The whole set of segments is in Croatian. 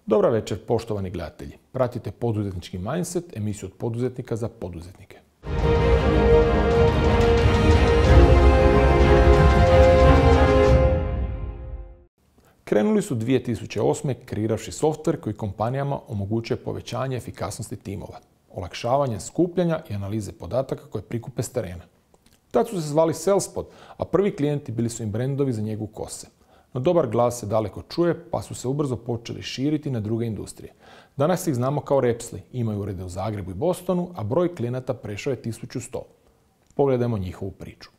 Dobra večer, poštovani gledatelji. Pratite Poduzetnički mindset, emisiju od poduzetnika za poduzetnike. Krenuli su 2008. kreiravši softver koji kompanijama omogućuje povećanje efikasnosti timova, olakšavanje skupljanja i analize podataka koje prikupe s terena. Tad su se zvali Salespod, a prvi klijenti bili su im brendovi za njegu kose. No dobar glas se daleko čuje, pa su se ubrzo počeli širiti na druge industrije. Danas ih znamo kao Repsli, imaju urede u Zagrebu i Bostonu, a broj klijenata prešao je 1100. Pogledajmo njihovu priču.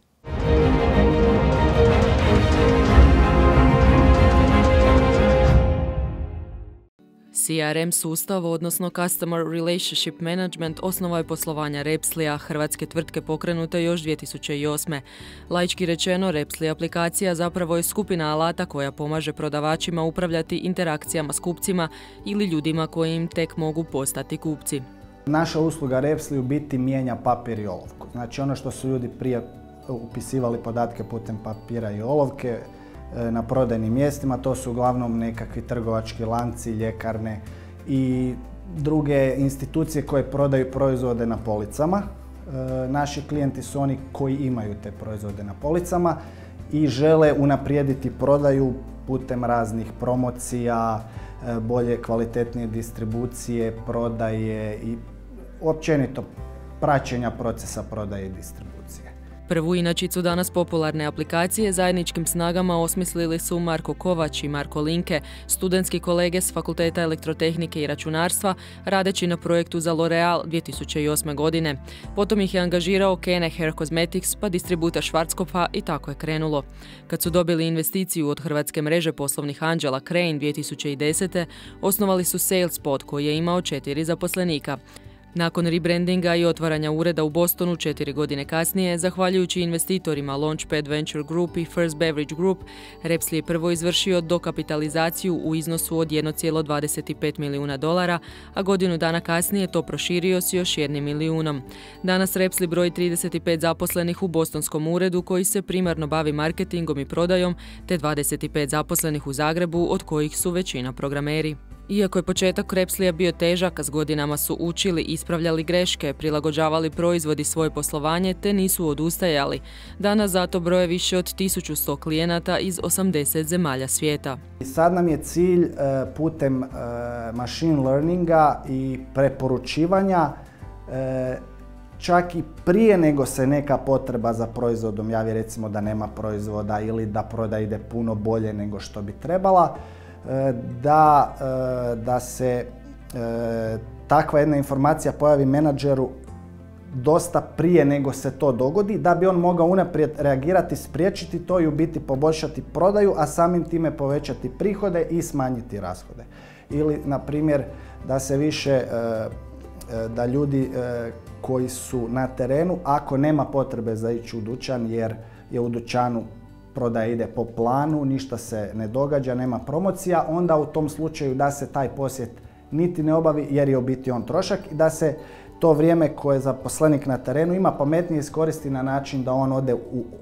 CRM sustav, odnosno Customer Relationship Management, osnova je poslovanja Repslija, hrvatske tvrtke pokrenute još 2008. Laički rečeno, Repsli aplikacija zapravo je skupina alata koja pomaže prodavačima upravljati interakcijama s kupcima ili ljudima koji im tek mogu postati kupci. Naša usluga Repsli u biti mijenja papir i olovku. Znači ono što su ljudi prije upisivali podatke putem papira i olovke, na prodajnim mjestima, to su uglavnom nekakvi trgovački lanci, ljekarne i druge institucije koje prodaju proizvode na policama. Naši klijenti su oni koji imaju te proizvode na policama i žele unaprijediti prodaju putem raznih promocija, bolje, kvalitetnije distribucije, prodaje i općenito praćenja procesa prodaje i distribucije. Prvu inačicu danas popularne aplikacije zajedničkim snagama osmislili su Marko Kovač i Marko Linke, studentski kolege s Fakulteta elektrotehnike i računarstva, radeći na projektu za L'Oreal 2008. godine. Potom ih je angažirao Kene Hair Cosmetics pa distributer Schwarzkopfa i tako je krenulo. Kad su dobili investiciju od hrvatske mreže poslovnih anđela Crane 2010. osnovali su Salespod koji je imao 4 zaposlenika. Nakon rebrandinga i otvaranja ureda u Bostonu 4 godine kasnije, zahvaljujući investitorima Launchpad Venture Group i First Beverage Group, Repsli je prvo izvršio dokapitalizaciju u iznosu od $1,25 milijuna, a godinu dana kasnije to proširio s još $1 milijunom. Danas Repsli broji 35 zaposlenih u bostonskom uredu koji se primarno bavi marketingom i prodajom, te 25 zaposlenih u Zagrebu, od kojih su većina programeri. Iako je početak Repslija bio težak, a s godinama su učili, ispravljali greške, prilagođavali proizvod i svoje poslovanje, te nisu odustajali. Danas zato broje više od 1100 klijenata iz 80 zemalja svijeta. Sad nam je cilj putem machine learninga i preporučivanja čak i prije nego se neka potreba za proizvodom javi, recimo da nema proizvoda ili da prodaja ide puno bolje nego što bi trebala, da se takva jedna informacija pojavi menadžeru dosta prije nego se to dogodi, da bi on mogao unaprijed reagirati, spriječiti to i u biti poboljšati prodaju, a samim time povećati prihode i smanjiti rashode. Ili, na primjer, da se više, da ljudi koji su na terenu, ako nema potrebe za ići u dućan jer je u dućanu prodaja ide po planu, ništa se ne događa, nema promocija, onda u tom slučaju da se taj posjet niti ne obavi jer je u biti on trošak i da se to vrijeme koje zaposlenik na terenu ima pametnije iskoristi na način da on ode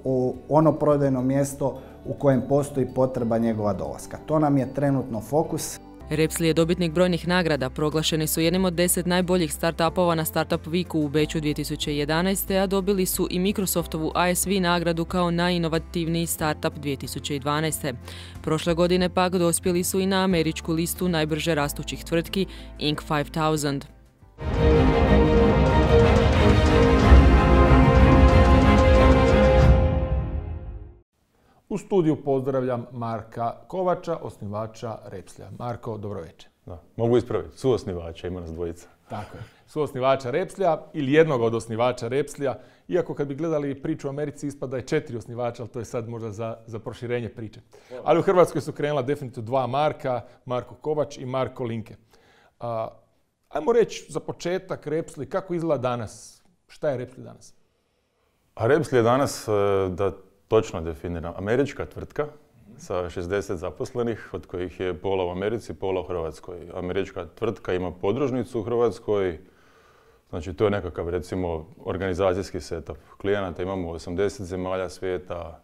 u ono prodajno mjesto u kojem postoji potreba njegova dolaska. To nam je trenutno fokus. Repsli je dobitnik brojnih nagrada, proglašeni su jednim od 10 najboljih startupova na Startup Weeku u Beču 2011. a dobili su i Microsoftovu ISV nagradu kao najinovativniji startup 2012. Prošle godine pak dospjeli su i na američku listu najbrže rastućih tvrtki Inc. 5000. U studiju pozdravljam Marka Kovača, osnivača Repslija. Marko, dobro večer. Da, mogu ispraviti, suosnivača, ima nas dvojica. Tako je, suosnivača Repslija ili jednog od osnivača Repslija, iako kad bi gledali priču u Americi ispada je 4 osnivača, ali to je sad možda za proširenje priče. Ali u Hrvatskoj su krenula definitivno 2 Marka, Marko Kovač i Marko Linke. Ajmo reći za početak Repsli, kako izgleda danas? Šta je Repsli danas? A Repsli je danas, da točno definiram, američka tvrtka sa 60 zaposlenih, od kojih je pola u Americi, pola u Hrvatskoj. Američka tvrtka ima podružnicu u Hrvatskoj, znači to je nekakav, recimo, organizacijski setup klijenata. Imamo 80 zemalja svijeta,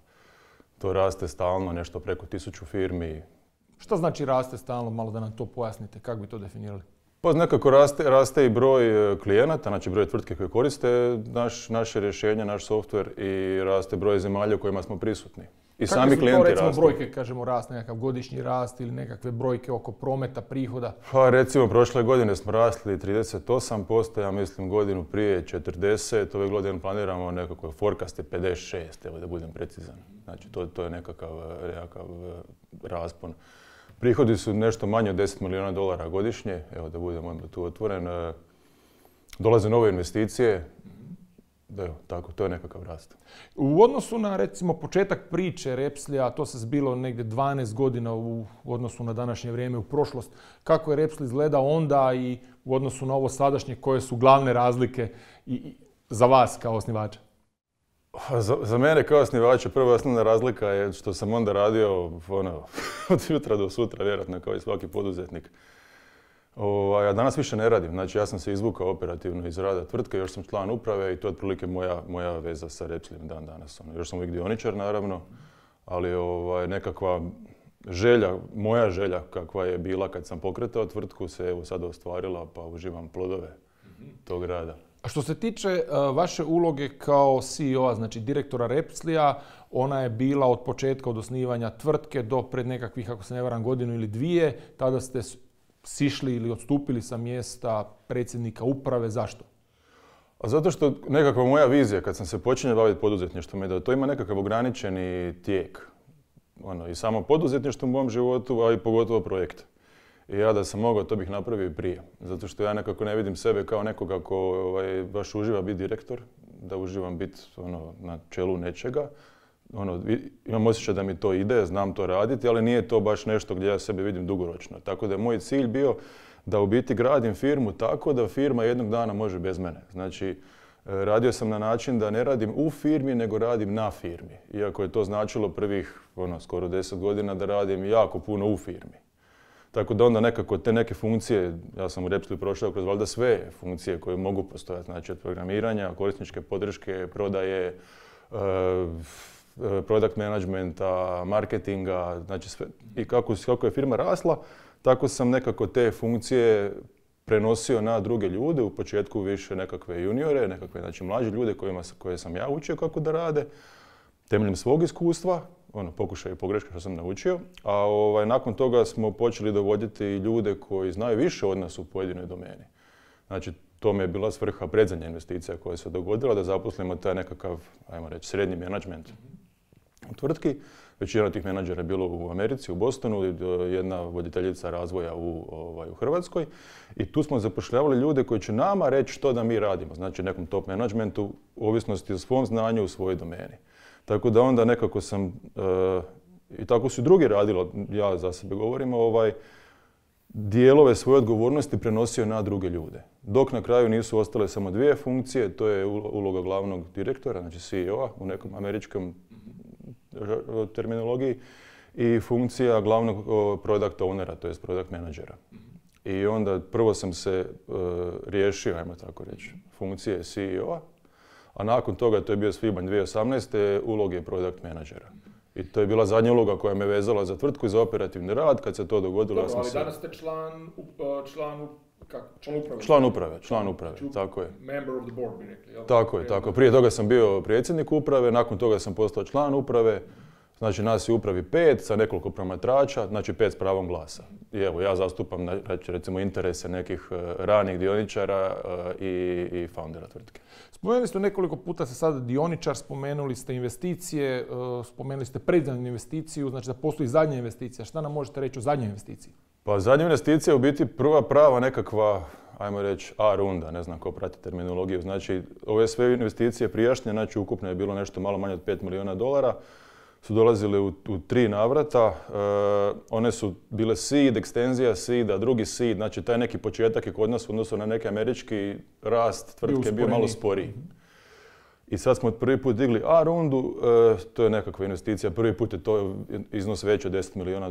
to raste stalno, nešto preko 1000 firmi. Šta znači raste stalno, malo da nam to pojasnite, kako bi to definirali? Pa nekako raste i broj klijenata, znači broj tvrtke koje koriste naše rješenje, naš softver i raste broj zemalja u kojima smo prisutni. I sami klijenti rastu. Kakve su to, recimo, brojke, kažemo, rast, nekakav godišnji rast ili nekakve brojke oko prometa, prihoda? Pa recimo, prošle godine smo rasli 38%, ja mislim godinu prije 40%, ove godine planiramo nekako forecast je 56%, evo da budem precizan. Znači, to je nekakav raspon. Prihodi su nešto manje od $10 milijuna godišnje, evo da budem tu otvoren. Dolaze nove investicije, evo, tako, to je nekakav rast. U odnosu na, recimo, početak priče Repslija, to se zbilo negdje 12 godina u odnosu na današnje vrijeme, u prošlost. Kako je Repsli izgledao onda i u odnosu na ovo sadašnje, koje su glavne razlike za vas kao osnivača? Za mene kao osnivača prva osnovna razlika je što sam onda radio od jutra do sutra, vjerojatno kao i svaki poduzetnik. A danas više ne radim, znači ja sam se izvukao operativno iz rada tvrtke, još sam član uprave i to je otprilike moja veza sa Repslijem dan danas. Još sam uvijek dioničar naravno, ali nekakva želja, moja želja kakva je bila kad sam pokretao tvrtku se evo sada ostvarila pa uživam plodove tog rada. A što se tiče vaše uloge kao CEO-a, znači direktora Repslija, ona je bila od početka, od osnivanja tvrtke do pred nekakvih, ako se ne varam, godinu ili dvije. Tada ste sišli ili odstupili sa mjesta predsjednika uprave. Zašto? A zato što nekakva moja vizija kad sam se počinio baviti poduzetništvom je da to ima nekakav ograničeni tijek. I samo poduzetništvo u mom životu, a i pogotovo projekt. I ja da sam mogao, to bih napravio i prije. Zato što ja nekako ne vidim sebe kao nekoga ko baš uživa biti direktor, da uživam biti na čelu nečega. Imam osjećaj da mi to ide, znam to raditi, ali nije to baš nešto gdje ja sebe vidim dugoročno. Tako da je moj cilj bio da u biti gradim firmu tako da firma jednog dana može bez mene. Znači, radio sam na način da ne radim u firmi, nego radim na firmi. Iako je to značilo prvih skoro 10 godina da radim jako puno u firmi. Tako da onda nekako te neke funkcije, ja sam u Repsliju prošao kroz valjda sve funkcije koje mogu postojati, znači od programiranja, korisničke podrške, prodaje, product managementa, marketinga, znači sve. I kako je firma rasla, tako sam nekako te funkcije prenosio na druge ljude, u početku više nekakve juniore, nekakve znači mlađe ljude koje sam ja učio kako da rade, temeljem svog iskustva, pokušaj i pogreške što sam naučio, a nakon toga smo počeli dovoditi ljude koji znaju više od nas u pojedinoj domeni. Znači, to mi je bila svrha predzadnja investicija koja se dogodila, da zaposlimo taj nekakav, ajmo reći, srednji menadžment u tvrtki. Većina tih menadžera je bilo u Americi, u Bostonu, jedna voditeljica razvoja u Hrvatskoj. I tu smo zapošljavali ljude koji će nama reći što da mi radimo, znači nekom top menadžmentu, u ovisnosti o svom znanju u svojoj domeni. Tako da onda nekako sam, i tako su drugi radili, ja za sebe govorim, dijelove svoje odgovornosti prenosio na druge ljude. Dok na kraju nisu ostale samo dvije funkcije, to je uloga glavnog direktora, znači CEO-a u nekom američkom terminologiji, i funkcija glavnog product ownera, to je product menadžera. I onda prvo sam se riješio, ajmo tako reći, funkcije CEO-a, a nakon toga, to je bio svibanj 2018. uloge product menadžera. I to je bila zadnja uloga koja me vezala za tvrtku i za operativni rad. Kad se to dogodilo, ja sam se... danas ste član uprave. Član uprave, tako je. Member of the board, bi rekli. Jel? Tako je, tako. Prije toga sam bio predsjednik uprave, nakon toga sam postao član uprave. Znači, nas je u upravi 5 sa nekoliko promatrača, znači 5 s pravom glasa. I evo, ja zastupam, recimo, interese nekih ranih dioničara i foundera tvrtke. Spomenuli ste nekoliko puta se sada dioničar, spomenuli ste investicije, spomenuli ste predzadnju investiciju, znači da postoji zadnja investicija. Šta nam možete reći o zadnjoj investiciji? Pa zadnja investicija je u biti prva prava nekakva, ajmo reći, A runda, ne znam ko prati terminologiju. Znači, ove sve investicije prijašnje, znači ukupno je bilo nešto malo manje od $5 milijuna, su dolazile u 3 navrata. One su bile seed, ekstenzija seeda, drugi seed, znači taj neki početak je kod nas u odnosu na neki američki rast tvrtke bio malo sporiji. I sad smo prvi put digli A rundu, to je nekakva investicija, prvi put je to iznos veći od $10 milijuna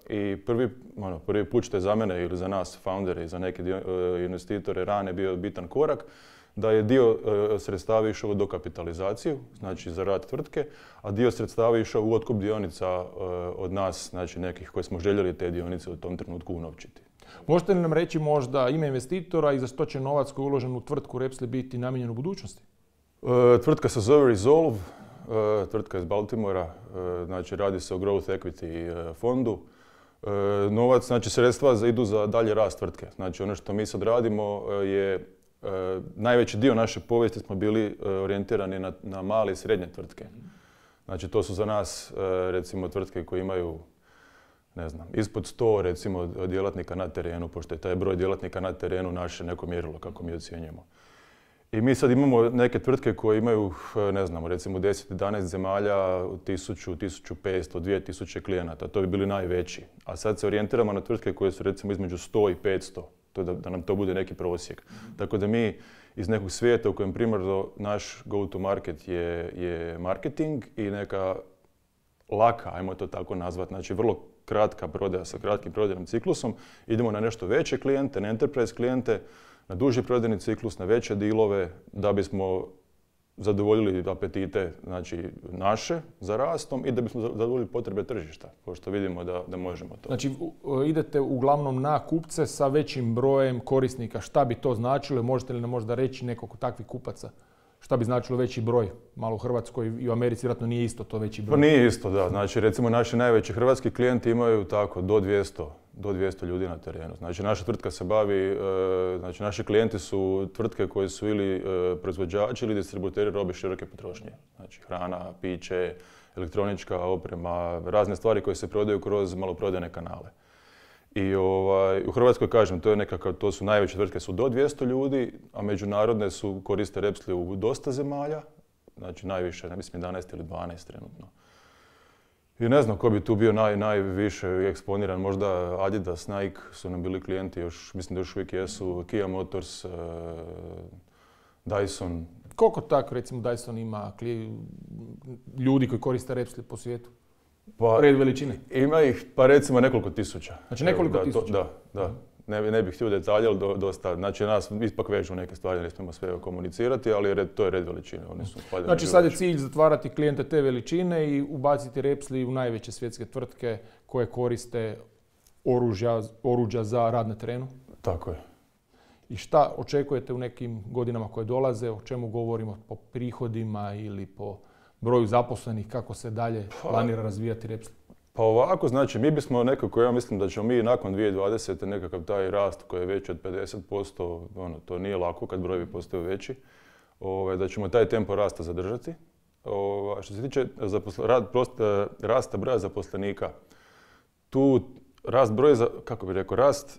i prvi put što je za mene ili za nas, foundere i za neke investitore rane bio bitan korak, da je dio sredstava išao u dokapitalizaciju, znači za rad tvrtke, a dio sredstava išao u otkup dionica od nas, znači nekih koji smo željeli te dionice u tom trenutku unovčiti. Možete li nam reći možda ime investitora i za što će novac koji je uložen u tvrtku Repsli biti namijenjen u budućnosti? Tvrtka se zove Resolve, tvrtka iz Baltimora, znači radi se o growth equity fondu. Novac, znači sredstva idu za dalje rast tvrtke. Znači ono što mi sad radimo je, najveći dio naše povijesti smo bili orijentirani na male i srednje tvrtke. Znači to su za nas recimo tvrtke koje imaju, ne znam, ispod 100 recimo djelatnika na terenu, pošto je taj broj djelatnika na terenu naše neko mjerilo kako mi ocjenjujemo. I mi sad imamo neke tvrtke koje imaju, ne znam, recimo 10-11 zemalja, 1000, 1500, 2000 klijenata. To bi bili najveći. A sad se orijentiramo na tvrtke koje su recimo između 100 i 500. To da nam to bude neki prosjek. Tako da mi iz nekog svijeta u kojem primarno naš go-to-market je marketing i neka laka, ajmo to tako nazvati, znači vrlo kratka prodaja sa kratkim prodajnim ciklusom, idemo na nešto veće klijente, na enterprise klijente, na duži prodajni ciklus, na veće dilove, da bismo zadovoljili apetite, znači, naše za rastom i da bismo zadovoljili potrebe tržišta, pošto vidimo da možemo to. Znači, idete uglavnom na kupce sa većim brojem korisnika. Šta bi to značilo? Možete li nam možda reći nekog takvih kupaca? Šta bi značilo veći broj? Malo u Hrvatskoj i u Americi vjerojatno nije isto to veći broj. Pa nije isto, da. Znači, recimo, naši najveći hrvatski klijenti imaju tako do 200 ljudi na terenu. Znači, naša tvrtka se bavi, znači, naši klijenti su tvrtke koje su ili proizvođači ili distributeri robe široke potrošnje. Znači, hrana, piće, elektronička oprema, razne stvari koje se prodaju kroz maloprodajne kanale. I u Hrvatskoj, kažem, to su najveće tvrtke, su do 200 ljudi, a međunarodne su koriste Repsli u dosta zemalja, znači najviše, ne mislim 11 ili 12 trenutno. I ne znam ko bi tu bio najviše eksponiran, možda Adidas, Nike su nam bili klijenti, mislim da još uvijek jesu, Kia Motors, Dyson. Koliko tako, recimo, Dyson ima ljudi koji koriste Repsli po svijetu? Red veličine? Ima ih, pa recimo nekoliko tisuća. Znači nekoliko tisuća? Da. Ne bih htio detalje, ali dosta. Znači nas ipak vežu neke stvari, ne smijemo sve komunicirati, ali to je red veličine. Znači sad je cilj zatvarati klijente te veličine i ubaciti Repsli u najveće svjetske tvrtke koje koriste oruđa za rad na terenu? Tako je. I šta očekujete u nekim godinama koje dolaze? O čemu govorimo? Po prihodima ili po broju zaposlenih, kako se dalje planira razvijati Repsli? Pa ovako, znači mi bismo nekako, ja mislim da ćemo mi nakon 2020. nekakav taj rast koji je veći od 50%, to nije lako kad brojevi postaju veći, da ćemo taj tempo rasta zadržati. Što se tiče rasta broja zaposlenika, tu rast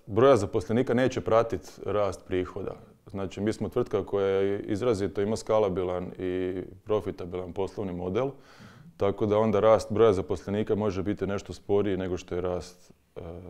broja zaposlenika neće pratiti rast prihoda. Znači, mi smo tvrtka koja izrazito ima skalabilan i profitabilan poslovni model, tako da onda rast broja zaposlenika može biti nešto sporiji nego što je rast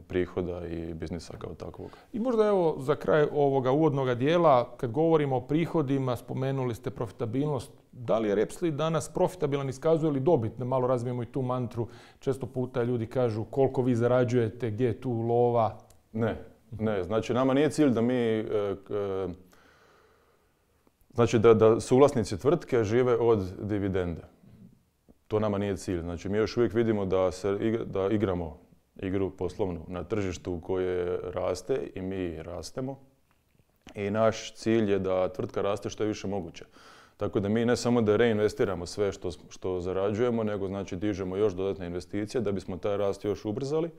prihoda i biznisa kao takvog. I možda evo za kraj ovoga uvodnog dijela, kad govorimo o prihodima, spomenuli ste profitabilnost. Da li je Repsli danas profitabilan, iskazuje li dobit? Malo razvijemo i tu mantru. Često puta ljudi kažu koliko vi zarađujete, gdje je tu lova? Ne. Znači nama nije cilj da mi, znači da suvlasnici tvrtke žive od dividende. To nama nije cilj. Znači mi još uvijek vidimo da igramo igru poslovnu na tržištu koje raste i mi rastemo. I naš cilj je da tvrtka raste što je više moguće. Tako da mi ne samo da reinvestiramo sve što zarađujemo, nego znači dižemo još dodatne investicije da bismo taj rast još ubrzali.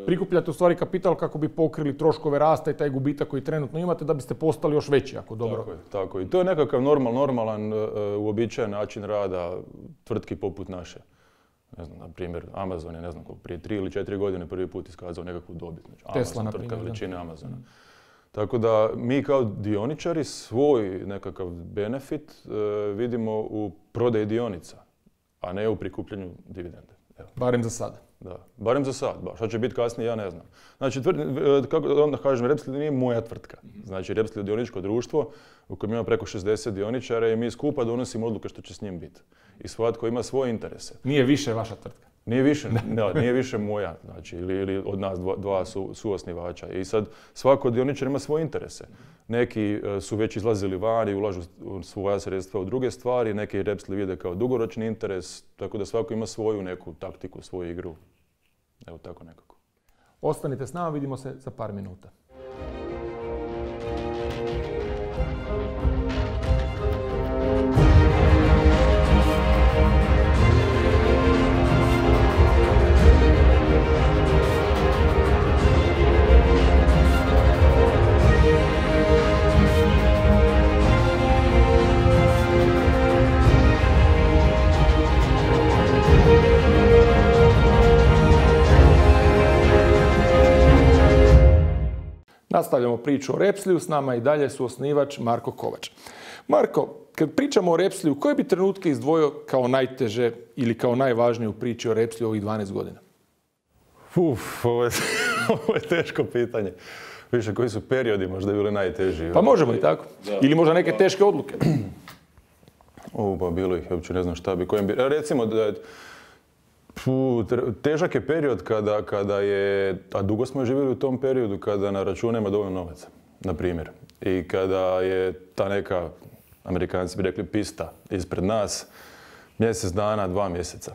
Prikupljate u stvari kapital kako bi pokrili troškove rasta i taj gubitak koji trenutno imate da biste postali još veći ako dobro. Tako je. I to je nekakav normalan, uobičajen način rada tvrtki poput naše. Ne znam, na primjer, Amazon je, ne znam koliko, prije 3 ili 4 godine prvi put iskazao nekakvu dobit. Znači, Tesla, na primjer. Tvrtka veličine Amazona. Tako da mi kao dioničari svoj nekakav benefit vidimo u prodaji dionica, a ne u prikupljanju dividende. Evo. Barem za sada. Da, barem za sad. Šta će biti kasnije, ja ne znam. Znači, kako onda kažem, Repsli nije moja tvrtka. Znači, Repsli je dioničko društvo u kojem ima preko 60 dioničara i mi skupa donosimo odluke što će s njim biti. I svatko ima svoje interese. Nije više vaša tvrtka? Nije više moja, znači, ili od nas dva suosnivača. I sad svako dioničar ima svoje interese. Neki su već izlazili van i ulažu svoja sredstva u druge stvari, neki Repsli vide kao dugoročni interes, tako da svako ima svoju neku taktiku, svoju igru. Evo tako nekako. Ostanite s nama, vidimo se za par minuta. Nastavljamo priču o Repsliju, s nama i dalje su osnivač Marko Kovač. Marko, kad pričamo o Repsliju, koje bi trenutke izdvojio kao najteže ili kao najvažnije u priči o Repsliju ovih 12 godina? Ovo je teško pitanje. Više, koji su periodi možda bili najteži? Pa možemo i tako. Da. Ili možda neke teške odluke. Pa bilo ih, uopće ne znam šta bi, kojem bi. Recimo da težak je period kada je, a dugo smo živjeli u tom periodu, kada na računu nema dovoljno novaca, na primjer. I kada je ta neka, Amerikanci bi rekli, pista ispred nas, mjesec dana, 2 mjeseca.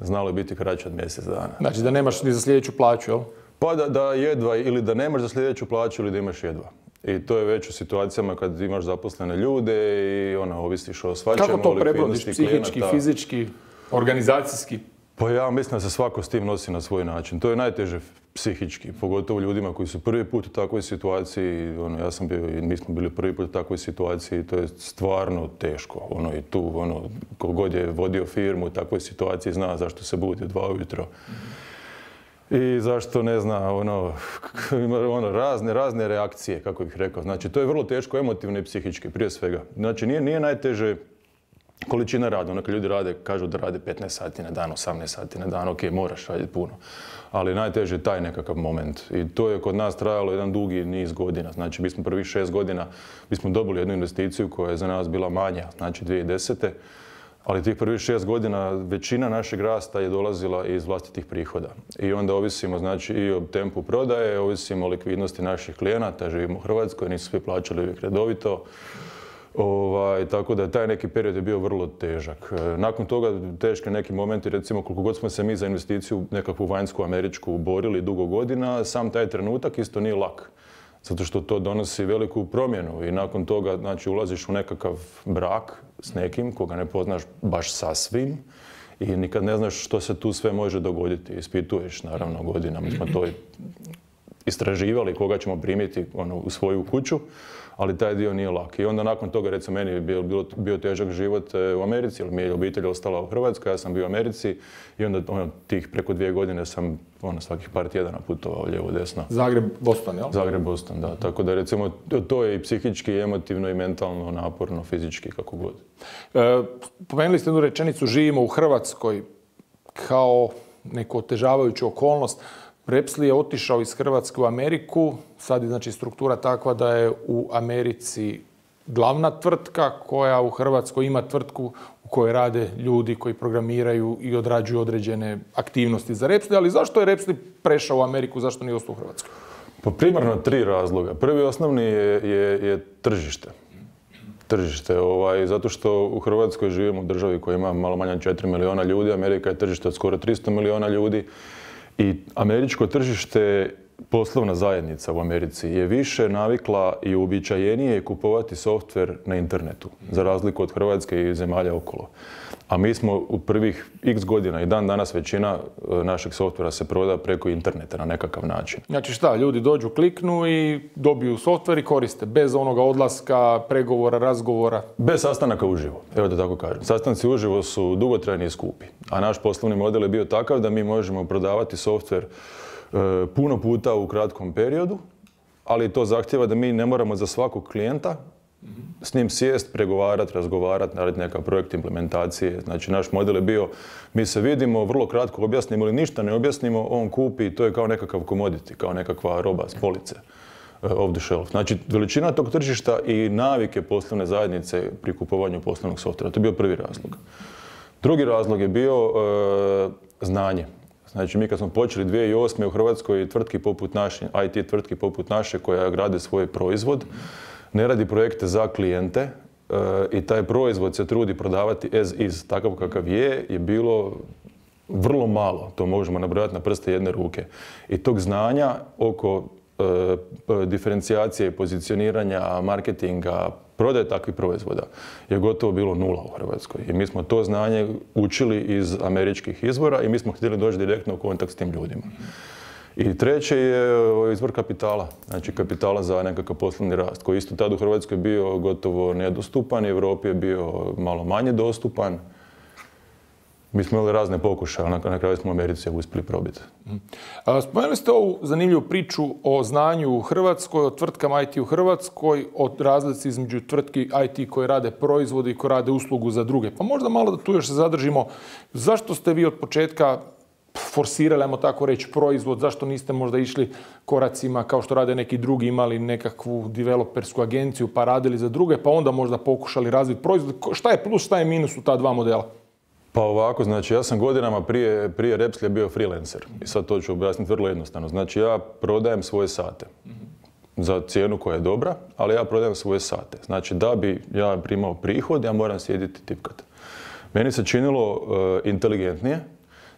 Znalo je biti kraće od mjesec dana. Znači da nemaš ni za sljedeću plaću, jel? Pa da jedva, ili da nemaš za sljedeću plaću ili da imaš jedva. I to je već u situacijama kad imaš zaposlene ljude i ovisiš o svačemu. Kako to prebrodiš? Psihički, fizički, organizacijski? Pa ja mislim da se svako s tim nosi na svoj način. To je najteže psihički, pogotovo ljudima koji su prvi put u takvoj situaciji. Ja sam bio i mi smo bili prvi put u takvoj situaciji. To je stvarno teško. I tu, kogod je vodio firmu u takvoj situaciji zna zašto se budi u 2 ujutro. I zašto ne zna, razne reakcije, kako bih rekao. Znači, to je vrlo teško emotivno i psihički, prije svega. Znači, nije najteže količina rada. Kad ljudi kažu da rade 15 sati na dan, 18 sati na dan, ok, moraš raditi puno. Ali najteže je taj nekakav moment. I to je kod nas trajalo jedan dugi niz godina. Znači, mi smo prvih 6 godina, mi smo dobili jednu investiciju koja je za nas bila manja, znači 2010. Ali tih prvih 6 godina većina našeg rasta je dolazila iz vlastitih prihoda. I onda ovisimo znači i o tempu prodaje, ovisimo o likvidnosti naših klijenata, živimo u Hrvatskoj, nisu svi plaćali uvijek redovito. Tako da taj neki period je bio vrlo težak. Nakon toga teški neki momenti, recimo koliko god smo se mi za investiciju nekakvu vanjsku američku borili dugo godina, sam taj trenutak isto nije lak. Zato što to donosi veliku promjenu i nakon toga znači, ulaziš u nekakav brak s nekim koga ne poznaš baš sasvim i nikad ne znaš što se tu sve može dogoditi. Ispituješ naravno godinama, mi smo to istraživali koga ćemo primiti u svoju kuću, ali taj dio nije lak. I onda nakon toga, recimo, meni je bio težak život u Americi, jer mi je obitelj ostala u Hrvatskoj, ja sam bio u Americi i onda tih preko 2 godine sam svakih par tjedana putovao lijevo desno. Zagreb-Boston, jel? Zagreb-Boston, da. Tako da, recimo, to je i psihički, i emotivno, i mentalno, naporno, fizički, kako god. Pomenuli ste jednu rečenicu, živimo u Hrvatskoj kao neku otežavajuću okolnost. Repsli je otišao iz Hrvatske u Ameriku, sad je znači struktura takva da je u Americi glavna tvrtka koja u Hrvatskoj ima tvrtku u kojoj rade ljudi koji programiraju i odrađuju određene aktivnosti za Repsli, ali zašto je Repsli prešao u Ameriku, zašto nije ostao u Hrvatskoj? Pa primarno 3 razloga. Prvi osnovni je tržište. Tržište, zato što u Hrvatskoj živimo u državi koja ima malo manje od 4 milijuna ljudi, Amerika je tržište od skoro 300 milijuna ljudi. I američko tržište, poslovna zajednica u Americi, je više navikla i uobičajenije kupovati softver na internetu, za razliku od Hrvatske i zemalja okolo. A mi smo u prvih x godina i dan danas većina našeg softvera se proda preko interneta na nekakav način. Znači šta, ljudi dođu, kliknu i dobiju softver i koriste, bez onoga odlaska, pregovora, razgovora? Bez sastanaka uživo, evo da tako kažem. Sastanci uživo su dugotrajni i skupi, a naš poslovni model je bio takav da mi možemo prodavati softver puno puta u kratkom periodu, ali to zahtjeva da mi ne moramo za svakog klijenta s njim sjest, pregovarati, razgovarati, narediti neka projekt implementacije. Znači, naš model je bio, mi se vidimo, vrlo kratko objasnimo ili ništa ne objasnimo, on kupi i to je kao nekakav commodity, kao nekakva roba s police, off the shelf. Znači, veličina tog tržišta i navike poslovne zajednice pri kupovanju poslovnog softvera, to je bio prvi razlog. Drugi razlog je bio znanje. Znači, mi kad smo počeli 2008. u Hrvatskoj tvrtki poput naše, IT tvrtki poput naše koja grade svoj proizvod, ne radi projekte za klijente i taj proizvod se trudi prodavati as is, takav kakav je bilo vrlo malo. To možemo nabrojati na prste jedne ruke. I tog znanja oko diferencijacije, pozicioniranja, marketinga, prodaje takvih proizvoda je gotovo bilo nula u Hrvatskoj. I mi smo to znanje učili iz američkih izvora i mi smo htjeli doći direktno u kontakt s tim ljudima. I treće je izvor kapitala, znači kapitala za nekakav poslovni rast, koji isto tad u Hrvatskoj bio gotovo nedostupan, u Europi je bio malo manje dostupan. Mi smo imali razne pokušaje, ali na kraju smo u Americi uspjeli probiti. Spomenuli ste ovu zanimljivu priču o znanju u Hrvatskoj, o tvrtkama IT u Hrvatskoj, o razlici između tvrtki IT koje rade proizvode i koje rade uslugu za druge. Pa možda malo da tu još se zadržimo. Zašto ste vi od početka forsirali, ajmo tako reći, proizvod? Zašto niste možda išli koracima kao što rade neki drugi, imali nekakvu developersku agenciju pa radili za druge, pa onda možda pokušali razviti proizvod? Šta je plus, šta je minus u ta dva modela? Pa ovako, znači ja sam godinama prije Repslija bio freelancer i sad to ću objasniti vrlo jednostavno. Znači ja prodajem svoje sate za cijenu koja je dobra, ali ja prodajem svoje sate. Znači da bi ja primao prihod, ja moram sjediti tipkat. Meni se činilo inteligentnije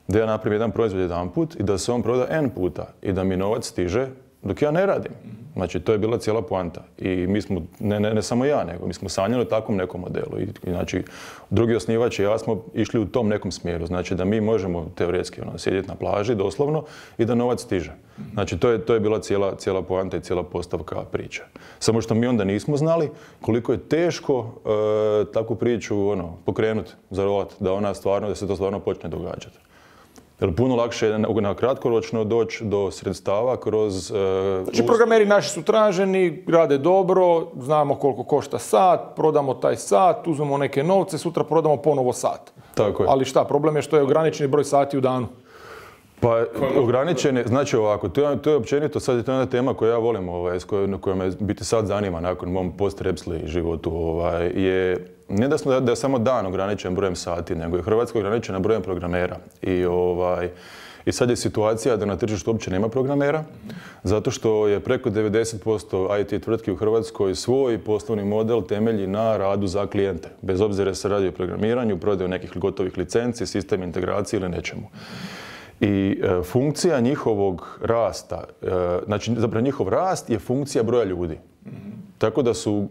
da ja napravim jedan proizvod jedanput i da se on proda N puta i da mi novac stiže dok ja ne radim. Znači, to je bila cijela poanta. I mi smo, ne samo ja, nego mi smo sanjali o takvom nekom modelu. I znači, drugi osnivač i ja smo išli u tom nekom smjeru. Znači, da mi možemo teoretski sjediti na plaži, doslovno, i da novac stiže. Znači, to je bila cijela poanta i cijela postavka priče. Samo što mi onda nismo znali koliko je teško takvu priču pokrenuti, zarolati, da se to stvarno počne događati. Jer puno lakše je na kratkoročno doći do sredstava kroz... Znači, programeri naši su traženi, rade dobro, znamo koliko košta sat, prodamo taj sat, uzmemo neke novce, sutra prodamo ponovo sat. Tako je. Ali šta, problem je što je ograničeni broj sati u danu. Pa ograničen je, znači ovako, to je općenito, sad je to jedna tema koju ja volim, koja me biti sad zanima nakon mom post-Repsli životu, je ne da je samo dan ograničen brojem sati, nego je Hrvatska ograničena brojem programera. I sad je situacija da na tržištu uopće nema programera, zato što je preko 90% IT tvrtki u Hrvatskoj svoj poslovni model temelji na radu za klijente. Bez obzira se radi o programiranju, prodaju nekih gotovih licenci, sistem integracije ili nečemu. I funkcija njihovog rasta, znači zapravo njihov rast je funkcija broja ljudi. Tako da su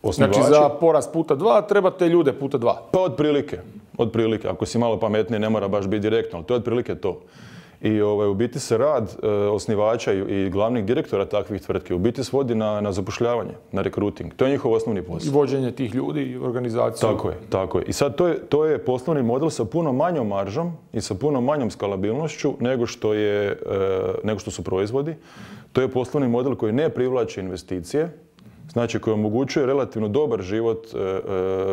osnivači... Znači za porast puta 2 trebate ljude puta 2. Pa otprilike. Ako si malo pametniji ne mora baš biti direktno, ali to je otprilike to. I u biti se rad osnivača i glavnih direktora takvih tvrtki u biti svodi na zapošljavanje, na rekruting. To je njihov osnovni posao. I vođenje tih ljudi i organizaciju. Tako je. I sad to je poslovni model sa puno manjom maržom i sa puno manjom skalabilnošću nego što su proizvodi. To je poslovni model koji ne privlači investicije, znači koji omogućuje relativno dobar život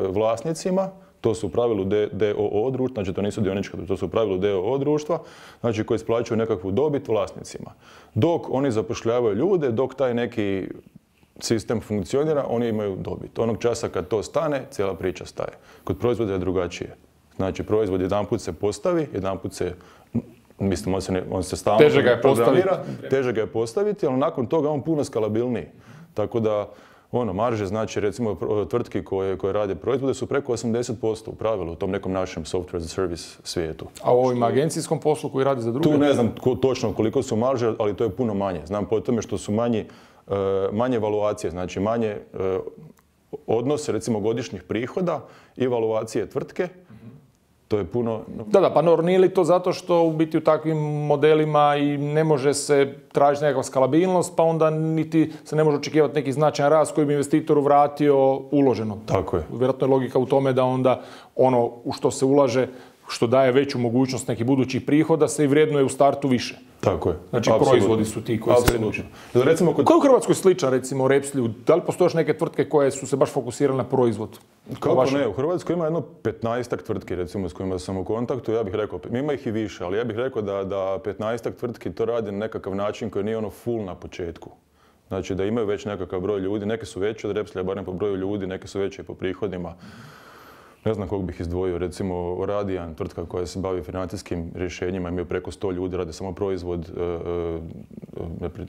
vlasnicima. To su u pravilu DOO društva, znači to nisu dionička društva, to su u pravilu DOO društva, znači koji isplaćuju nekakvu dobit vlasnicima. Dok oni zapošljavaju ljude, dok taj neki sistem funkcionira, oni imaju dobit. Onog časa kad to stane, cijela priča staje. Kod proizvoda je drugačije. Znači proizvod jedanput se postavi, jedanput se, mislim, on se stalno programira, teže ga je postaviti, ali nakon toga on puno skalabilniji. Tako da marže, znači recimo tvrtki koje rade proizvode su preko 80% u pravilu u tom nekom našem software as a service svijetu. A u ovim agencijskom poslu koji radi za druge? Tu ne znam točno koliko su marže, ali to je puno manje. Znam po tome što su manje evaluacije, znači manje odnose recimo godišnjih prihoda i evaluacije tvrtke. To je puno... Da, pa nije li to zato što u biti u takvim modelima i ne može se tražiti nekakva skalabilnost, pa onda niti se ne može očekivati neki značajan rast koji bi investitoru vratio uloženo. Tako je. Vjerojatno je logika u tome da onda ono u što se ulaže, što daje veću mogućnost nekih budućih prihoda, se i vrijednuje u startu više. Tako je. Znači proizvodi su ti koji se vrijednuju. Ko je u Hrvatskoj sličan, recimo, Repsliju? Da li postoje još neke tvrtke koje su se baš fokusirale na proizvod? Kako ne? U Hrvatskoj ima jedno 15-ak tvrtki, recimo, s kojima sam u kontaktu. Ja bih rekao, ima ih i više, ali ja bih rekao da 15-ak tvrtki to radi na nekakav način koji nije full na početku. Znači da imaju već nekakav broj ljudi. Neke su veće od Repslija, barem po broju ljudi, neke su veće i po prihodima. Ne znam kog bih izdvojio, recimo Radijan, tvrtka koja se bavi financijskim rješenjima, imaju preko 100 ljudi, rade samo proizvod,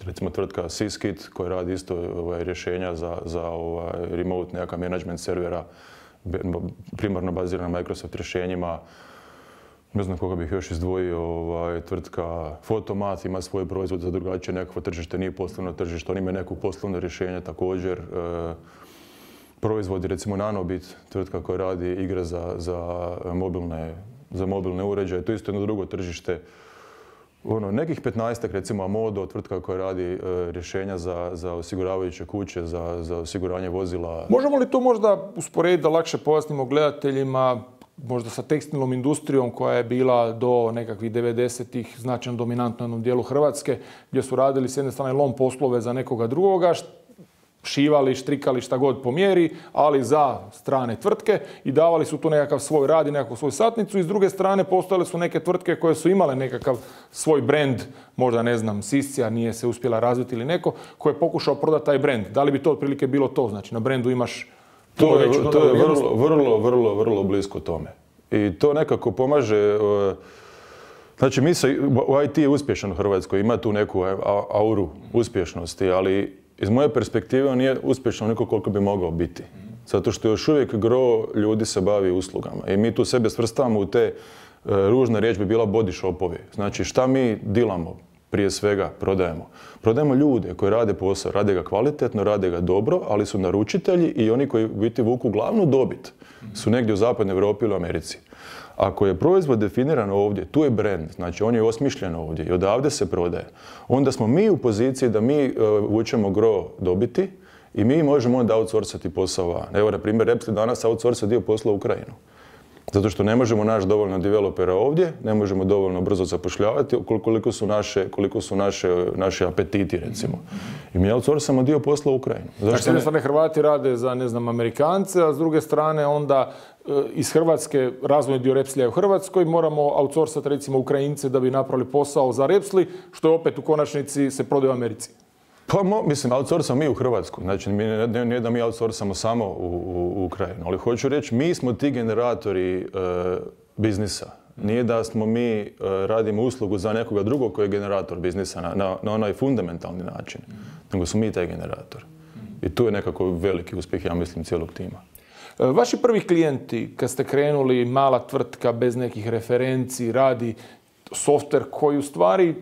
recimo tvrtka Syskit koja radi isto rješenja za remote nekakav management servera, primarno bazirana na Microsoft rješenjima. Ne znam koga bih još izdvojio, tvrtka Fotomat ima svoj proizvod za drugačije nekakvo tržište, nije poslovno tržište, oni imaju neko poslovno rješenje također. Proizvodi, recimo Nanobit, tvrtka koja radi igre za mobilne uređaje, to je isto jedno drugo tržište. Nekih 15-ak, recimo Amodo, tvrtka koja radi rješenja za osiguravajuće kuće, za osiguranje vozila. Možemo li to možda usporediti da lakše pojasnimo gledateljima, možda sa tekstilnom industrijom koja je bila do nekakvih 90-ih značajno dominantna u jednom dijelu Hrvatske, gdje su radili s jedne strane lom poslove za nekoga drugoga, šivali, štrikali šta god po mjeri, ali za strane tvrtke i davali su tu nekakav svoj rad i nekakvu svoju satnicu i s druge strane postojale su neke tvrtke koje su imale nekakav svoj brend, možda ne znam, Siscia nije se uspjela razviti ili neko, koji je pokušao prodati taj brend. Da li bi to otprilike bilo to? Znači na brendu imaš to je vrlo blisko tome. I to nekako pomaže. Znači, u IT je uspješan u Hrvatskoj, ima tu neku auru uspješnosti, ali iz moje perspektive on nije uspješan onoliko koliko bi mogao biti. Zato što još uvijek gro ljudi se bavi uslugama. I mi tu sebe svrstavamo u te, ružna riječ bi bila body shopovi. Znači, šta mi dilamo? Prije svega prodajemo. Prodajemo ljude koji rade posao, rade ga kvalitetno, rade ga dobro, ali su naručitelji i oni koji biti vuku glavnu dobit su negdje u zapadnoj Europi ili Americi. Ako je proizvod definiran ovdje, tu je brand, znači on je osmišljen ovdje i odavde se prodaje, onda smo mi u poziciji da mi vučemo gro dobiti i mi možemo onda outsourcati posao van. Evo, na primjer, Repsli danas outsourca dio posla u Ukrajinu. Zato što ne možemo naći dovoljno developera ovdje, ne možemo dovoljno brzo zapošljavati koliko su naši apetiti, recimo. I mi outsourcamo dio posla u Ukrajinu. Znači, s jedne strane Hrvati rade za, ne znam, Amerikance, a s druge strane onda iz Hrvatske, razvojni dio Repslija je u Hrvatskoj, moramo outsourcati recimo Ukrajince da bi napravili posao za Repsli, što je opet u konačnici se prodaje u Americi. Pa, mislim, outsourcamo mi u Hrvatsku. Znači, nije da mi outsourcamo samo u Ukrajinu. Ali hoću reći, mi smo ti generatori biznisa. Nije da smo mi radimo uslugu za nekoga drugog koji je generator biznisa na onaj fundamentalni način. Nego smo mi taj generator. I tu je nekako veliki uspjeh, ja mislim, cijelog tima. Vaši prvi klijenti, kad ste krenuli, mala tvrtka bez nekih referenci, radi softver koji u stvari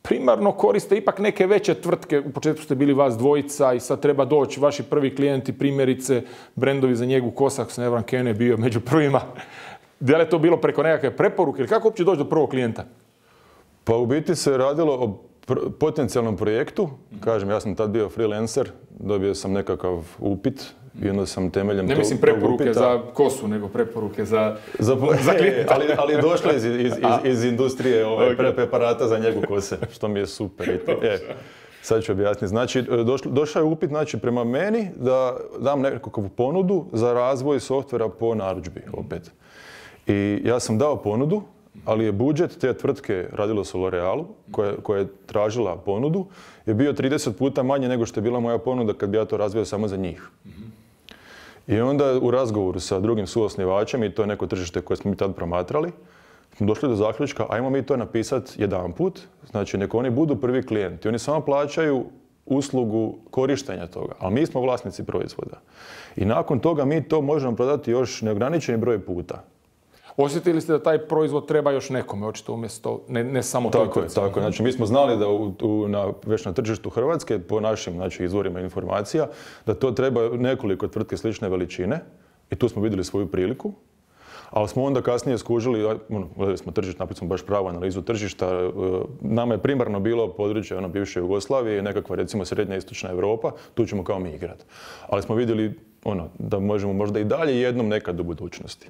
primarno koriste ipak neke veće tvrtke. U početku ste bili vas dvojica i sad treba doći vaši prvi klijenti, primjerice brendovi za njegu kosa, ako se ne varam, Ken je bio među prvima. Da li je to bilo preko nekakve preporuke ili kako uopće doći do prvog klijenta? Pa u biti se radilo o potencijalnom projektu. Kažem, ja sam tad bio freelancer, dobio sam nekakav upit i onda sam temeljem ne mislim preporuke za kosu, nego preporuke za klijenta. ali došlo iz industrije preparata za njegu kose, što mi je super. Sad ću objasniti. Znači, došao je upit prema meni da dam nekakvu ponudu za razvoj softvera po narudžbi opet. I ja sam dao ponudu, ali je budžet te tvrtke, radilo se o L'Orealu, koja je tražila ponudu, je bio 30 puta manje nego što je bila moja ponuda kad bi ja to razvio samo za njih. I onda u razgovoru sa drugim suosnivačem, i to je neko tržište koje smo mi tad promatrali, smo došli do zaključka, ajmo mi to napisati jedanput, znači nek oni budu prvi klijenti. Oni samo plaćaju uslugu korištenja toga, ali mi smo vlasnici proizvoda. I nakon toga mi to možemo prodati još neograničeni broj puta. Osjetili ste da taj proizvod treba još nekome, očito umjesto, ne samo toj tvrtci? Tako je. Znači, mi smo znali da već na tržištu Hrvatske, po našim izvorima informacija, da to treba nekoliko tvrtke slične veličine i tu smo vidjeli svoju priliku. Ali smo onda kasnije skužili, gledali smo tržište, napravili smo baš pravu analizu tržišta. Nama je primarno bilo područje bivše Jugoslavije, nekakva recimo srednja istočna Europa, tu ćemo kao mi igrati. Ali smo vidjeli da možemo možda i dalje jednom nekad u budućnosti.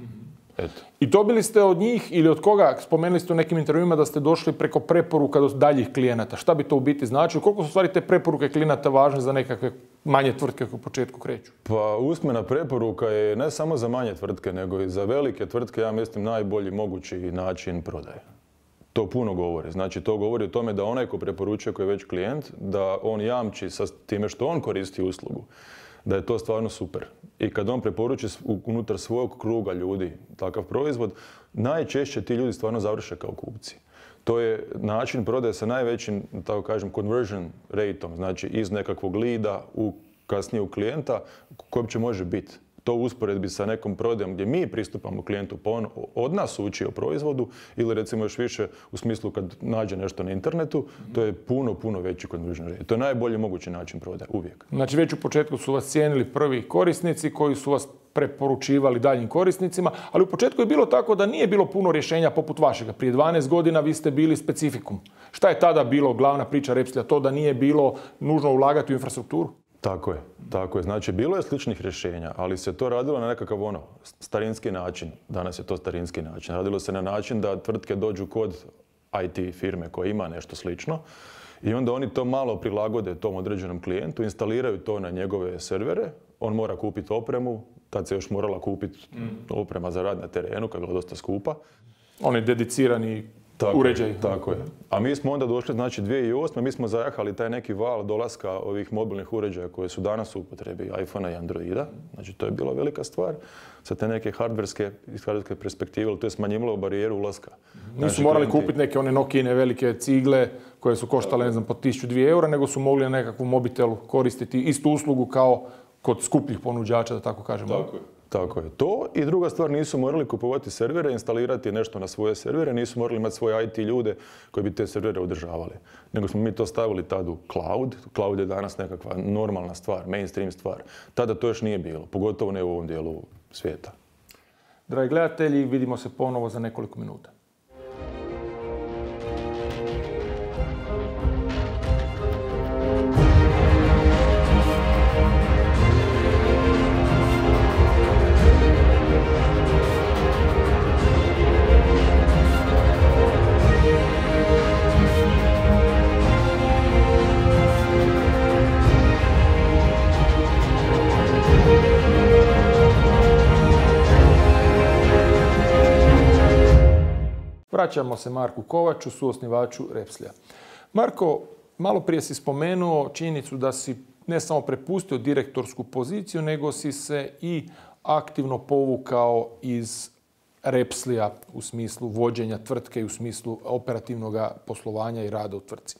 Eto. I dobili ste od njih ili od koga, spomenuli ste u nekim intervjuima da ste došli preko preporuka do daljih klijenata. Šta bi to u biti značilo? Koliko su stvari te preporuke klijenata važne za nekakve manje tvrtke koje u početku kreću? Pa usmena preporuka je ne samo za manje tvrtke, nego i za velike tvrtke, ja mislim, najbolji mogući način prodaje. To puno govori. Znači, to govori o tome da onaj ko preporučuje, koji je već klijent, da on jamči sa time što on koristi uslugu, da je to stvarno super. I kad on preporuči unutar svog kruga ljudi takav proizvod, najčešće ti ljudi stvarno završe kao kupci. To je način prodaje sa najvećim, tako kažem, conversion rateom, znači iz nekakvog lida kasnije u klijenta, koji uopće može biti. To u usporedbi sa nekom prodajom gdje mi pristupamo klijentu pa on od nas uči o proizvodu ili recimo još više u smislu kad nađe nešto na internetu, to je puno veći conversion rate. To je najbolji mogući način prodaje, uvijek. Znači već u početku su vas cijenili prvi korisnici koji su vas preporučivali daljim korisnicima, ali u početku je bilo tako da nije bilo puno rješenja poput vašega. Prije 12 godina vi ste bili specifikum. Šta je tada bilo glavna priča Repslija? To da nije bilo nužno ulagati u infrastrukturu? Tako je. Znači, bilo je sličnih rješenja, ali se to radilo na nekakav starinski način. Danas je to starinski način. Radilo se na način da tvrtke dođu kod IT firme koja ima nešto slično i onda oni to malo prilagode tom određenom klijentu, instaliraju to na njegove servere, on mora kupiti opremu, tad se još morala kupiti oprema za rad na terenu, koja je bila dosta skupa. On je dedicirani uređaj. Tako je. A mi smo onda došli, znači 2008. mi smo zajahali taj neki val dolaska ovih mobilnih uređaja koje su danas u upotrebi, iPhone-a i Androida. Znači to je bila velika stvar. Sa te neke hardverske perspektive, to je smanjivalo barijeru ulaska. Nisu morali kupiti neke one Nokijine velike cigle koje su koštale, ne znam, po 1000-2 eura, nego su mogli na nekakvu mobitelu koristiti istu uslugu kao kod skupljih ponuđača, da tako kažemo. Tako je. To i druga stvar, nisu morali kupovati servere, instalirati nešto na svoje servere, nisu morali imati svoje IT ljude koji bi te servere održavali. Nego smo mi to stavili tad u cloud. Cloud je danas nekakva normalna stvar, mainstream stvar. Tada to još nije bilo, pogotovo ne u ovom dijelu svijeta. Dragi gledatelji, vidimo se ponovo za nekoliko minuta. Vraćamo se Marku Kovaču, suosnivaču Repslija. Marko, malo prije si spomenuo činjenicu da si ne samo prepustio direktorsku poziciju, nego si se i aktivno povukao iz Repslija u smislu vođenja tvrtke i u smislu operativnog poslovanja i rada u tvrtci.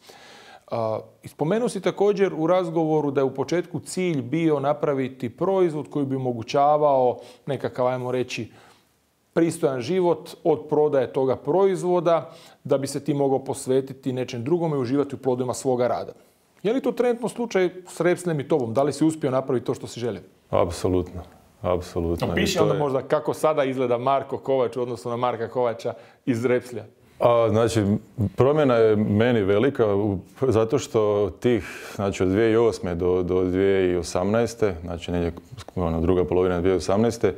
Spomenuo si također u razgovoru da je u početku cilj bio napraviti proizvod koji bi omogućavao nekakav, ajmo reći, pristojan život od prodaje toga proizvoda, da bi se ti mogao posvetiti nečem drugome i uživati u plodovima svoga rada. Je li to trenutno slučaj s Repslijem i tobom? Da li si uspio napraviti to što si želio? Apsolutno. Piši onda možda kako sada izgleda Marko Kovač u odnosu na Marka Kovača iz Repslija. Znači, promjena je meni velika zato što znači od 2008. do 2018. znači negdje druga polovina 2018.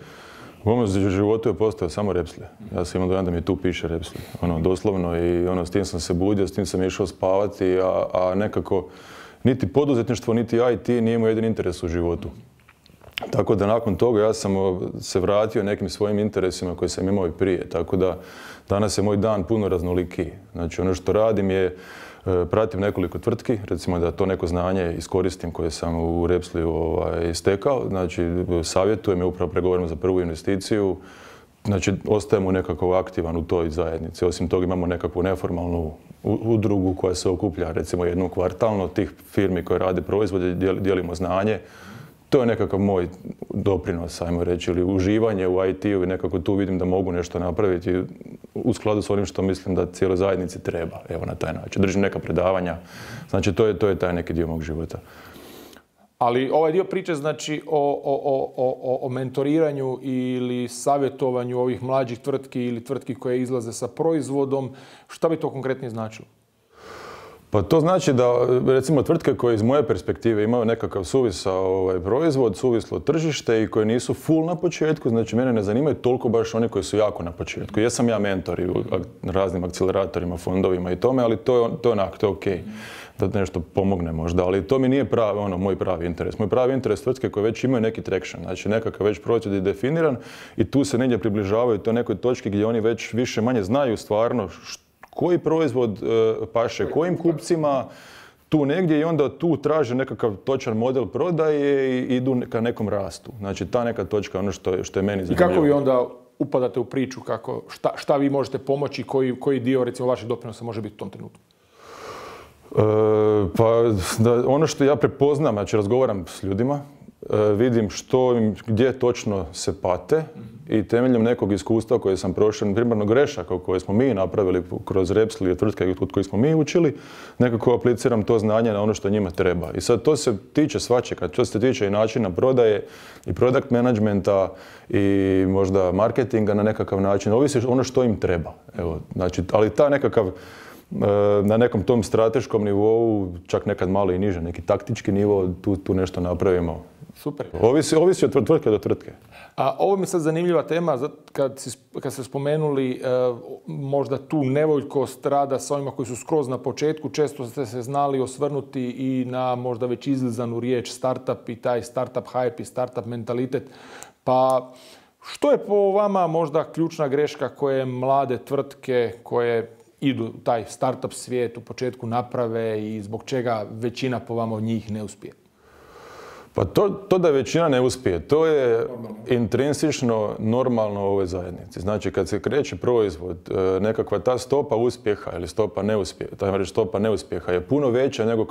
u mom životu je postao samo Repslije. Ja sam imao dojam da mi tu piše Repslije. Doslovno i s tim sam se budio, s tim sam išao spavati, a nekako niti poduzetništvo, niti IT nije moj jedini interes u životu. Tako da nakon toga ja sam se vratio nekim svojim interesima koje sam imao i prije. Tako da danas je moj dan puno raznolikiji. Znači ono što radim je pratim nekoliko tvrtki, recimo da to neko znanje iskoristim koje sam u Repsliju stekao. Znači savjetujem i upravo pregovaram za prvu investiciju. Znači ostajemo nekako aktivan u toj zajednici. Osim toga imamo nekakvu neformalnu udrugu koja se okuplja recimo jednom kvartalno tih firmi koje rade proizvode, dijelimo znanje. To je nekakav moj doprinos, ajmo reći, ili uživanje u IT-u i nekako tu vidim da mogu nešto napraviti u skladu s onim što mislim da cijeloj zajednici treba, evo na taj način. Držim neka predavanja, znači to je taj neki dio mog života. Ali ovaj dio priče znači o mentoriranju ili savjetovanju ovih mlađih tvrtki ili tvrtki koje izlaze sa proizvodom, šta bi to konkretnije značilo? Pa to znači da, recimo, tvrtke koje iz moje perspektive imaju nekakav suvisao proizvod, suvislo tržište i koje nisu full na početku, znači mene ne zanimaju toliko baš oni koji su jako na početku. Jesam ja mentor i u raznim akceleratorima, fondovima i tome, ali to je okej. Da nešto pomogne možda, ali to mi nije moj pravi interes. Moj pravi interes tvrtke koje već imaju neki traction, znači nekakav već proizvod je definiran i tu se negdje približavaju toj nekoj točki gdje oni već više manje znaju stvarno koji proizvod paše kojim kupcima. tu negdje i onda tu traže nekakav točan model prodaje i idu ka nekom rastu. Znači ta neka točka, ono što je meni zanimljivo. I kako vi onda upadate u priču, šta vi možete pomoći, koji dio recimo vaših doprinosa može biti u tom trenutku? Ono što ja prepoznam, znači razgovaram s ljudima, vidim gdje točno se pate i temeljem nekog iskustva koje sam prošao, primarno grešaka koje smo mi napravili kroz Repsol i tvrtke od kojih smo mi učili, nekako apliciram to znanje na ono što njima treba. I sad to se tiče svačega, to se tiče i načina prodaje i product managementa i možda marketinga na nekakav način, ovisi ono što im treba. Evo, znači, ali ta nekakav na nekom tom strateškom nivou, čak nekad malo i niže, neki taktički nivo, tu nešto napravimo. Super. Ovisi od tvrtke do tvrtke. A ovo mi je sad zanimljiva tema, kad ste spomenuli možda tu nevoljkost rada s ovima koji su skroz na početku, često ste se znali osvrnuti i na možda već izlizanu riječ startup i taj startup hype i startup mentalitet. Pa što je po vama možda ključna greška koje mlade tvrtke koje idu u taj startup svijet u početku naprave i zbog čega većina po vama od njih ne uspije? Pa to da većina ne uspije, to je intrinsično normalno u ovoj zajednici. Znači kad se kreće proizvod, nekakva ta stopa uspjeha ili stopa neuspjeha je puno veća nego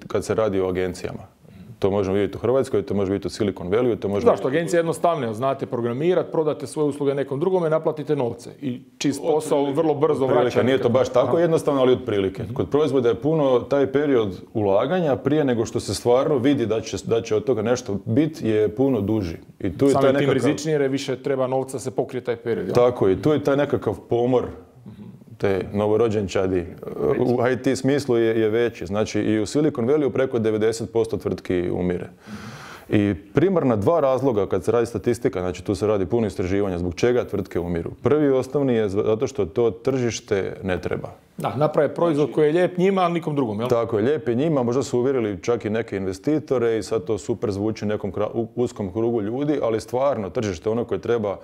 kad se radi o agencijama. To možemo vidjeti u Hrvatskoj, to može biti u Silicon Valley, to može... Zašto? Agencija je jednostavnija. Znate programirati, prodate svoje usluge nekom drugome, naplatite novce. I čist posao vrlo brzo vraća. Nije to baš tako jednostavno, ali otprilike. Kod proizvoda je puno taj period ulaganja prije nego što se stvarno vidi da će od toga nešto biti je puno duži. I tu je samim tim rizičnije jer više treba novca se pokrije taj period. Tako i tu je taj nekakav pomor te novorođenčadi u IT smislu je veći. Znači i u Silicon Valley preko 90% tvrtki umire. I primarna dva razloga kad se radi statistika, znači tu se radi puno istraživanja, zbog čega tvrtke umiru. Prvi i osnovni je zato što to tržište ne treba. Da, naprave proizvod koji je lijep njima, ali nikom drugom, jel? Tako je, lijep je njima, možda su uvjerili čak i neke investitore i sad to super zvuči nekom uskom krugu ljudi, ali stvarno tržište ono koje treba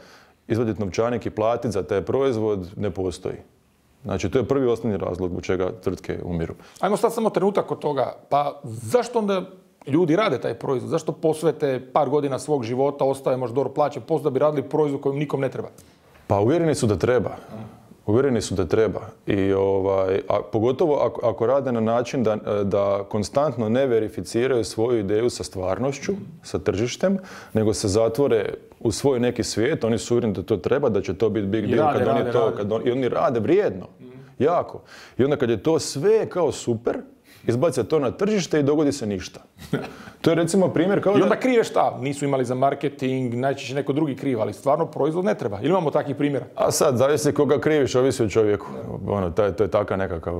izvaditi novčanik i platiti za taj proizvod ne postoji. Znači, to je prvi osnovni razlog zbog čega tvrtke umiru. Ajmo sad samo trenutak od toga. Pa zašto onda ljudi rade taj proizvod? Zašto posvete par godina svog života, ostaje možda dobro plaće, da bi radili proizvod kojim nikom ne treba? Pa uvjereni su da treba. Uvjereni su da treba. I pogotovo ako rade na način da konstantno ne verificiraju svoju ideju sa stvarnošću, sa tržištem, nego se zatvore u svoj neki svijet, oni su uvjereni da to treba, da će to biti big deal i oni rade vrijedno, jako. I onda kad je to sve kao super, izbace to na tržište i dogodi se ništa. To je recimo primjer kao da... I onda krive šta? Nisu imali za marketing, najčešće neko drugi kriv, ali stvarno proizvod ne treba. Ili imamo takvih primjera? A sad, zavisi koga kriviš, ovisi o čovjeku. To je taka nekakav,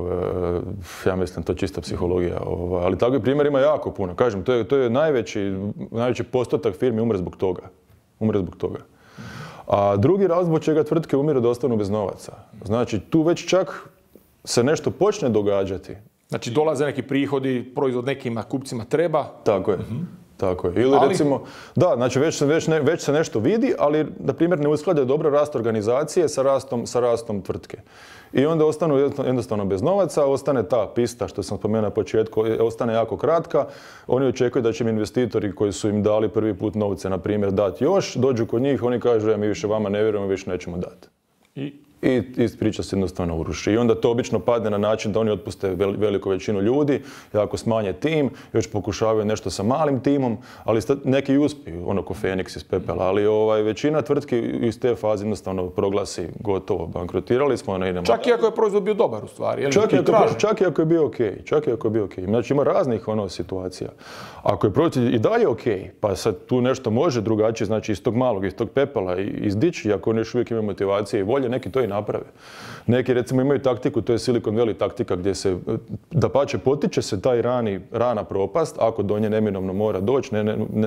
ja mislim, to je čista psihologija. Ali takvih primjera ima jako puno. Kažem, to je najveći postotak firmi umre zbog toga. A drugi razlog zbog čega tvrtke umiru da ostanu bez novaca. Znači, tu već čak se nešto počne događati. Znači dolaze neki prihodi, proizvod nekima kupcima treba. Tako je. Tako je. Ili recimo, da, znači već se nešto vidi, ali na primjer ne usklade dobro rast organizacije sa rastom tvrtke. I onda ostanu jednostavno bez novaca, ostane ta pista što sam spomenuo na početku, ostane jako kratka. Oni očekuju da će im investitori koji su im dali prvi put novce, na primjer, dati još, dođu kod njih, oni kažu mi više vama ne vjerujemo, više nećemo dati. I priča se jednostavno uruši. I onda to obično padne na način da oni otpuste veliku većinu ljudi, jako smanje tim, još pokušavaju nešto sa malim timom, ali neki uspiju, ono ko Feniks iz pepela, ali većina tvrtki iz te faze jednostavno proglasi gotovo, bankrotirali smo, idemo. Čak i ako je proizvod bio dobar u stvari. Čak i ako je bio okej. Znači ima raznih situacija. Ako je proizvod i dalje okej, pa sad tu nešto može drugačije, znači iz tog malog, iz tog pepela izdići, ako oni još uvijek imaju motivacije i volje, neki to i naprave. Neki recimo imaju taktiku, to je Silicon Valley taktika gdje se, dapače, potiče se taj rana propast, ako do nje neminovno mora doći,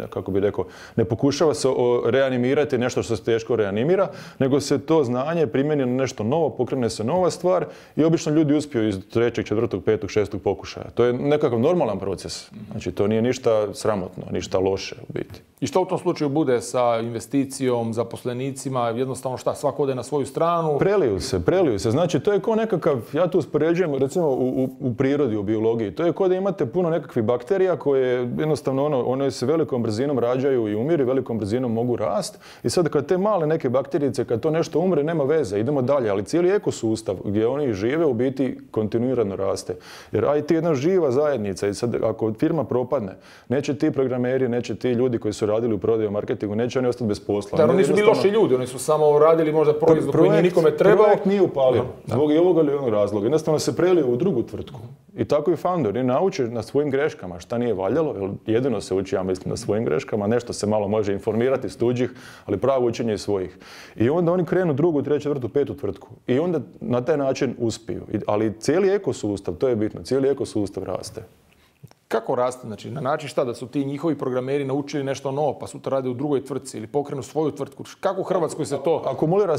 kako bi rekao, ne pokušava se reanimirati nešto što se teško reanimira, nego se to znanje primjeni na nešto novo, pokrene se nova stvar i obično ljudi uspiju iz 3., 4., 5., 6. pokušaja. To je nekakav normalan proces. Znači to nije ništa sramotno, ništa loše u biti. I što u tom slučaju bude sa investicijom, zaposlenicima, jednostavno šta, svako ode na svoju stranu? preliju se. Znači, to je kao nekakav, ja tu uspoređujem, recimo u prirodi, u biologiji, to je kao da imate puno nekakvih bakterija koje jednostavno one se velikom brzinom rađaju i umiru, velikom brzinom mogu rast. I sad kad te male neke bakterijice, kad to nešto umre, nema veze, idemo dalje. Ali cijeli ekosustav gdje oni žive u biti kontinuirano raste. Jer IT je jedna živa zajednica i sad ako firma propadne, neće ti programeri, neće ti ljudi koji su radili u prodaju marketingu, neće oni ostati bez posla. Da, oni su bili loši ljudi, oni su samo radili možda proizvod koji nije nikome trebao. Projekt nije upalio, zbog ovoga ili onog razloga. Jednostavno se prelio u drugu tvrtku. I tako i founder, i nauči na svojim greškama šta nije valjalo, jer jedino se uči, ja mislim, na svojim greškama, nešto se malo može informirati s tuđih, ali pravo učenje je svojih. I onda oni krenu drugu, treću, četvrtu, petu tvrtku. I onda na taj način uspiju. Ali cijeli ekosustav, to je bitno, cijeli ekosustav raste. Kako raste? Znači, na način šta? Da su ti njihovi programeri naučili nešto novo, pa sutra rade u drugoj tvrtci ili pokrenu svoju tvrtku. Kako u Hrvatskoj se to... Akumulira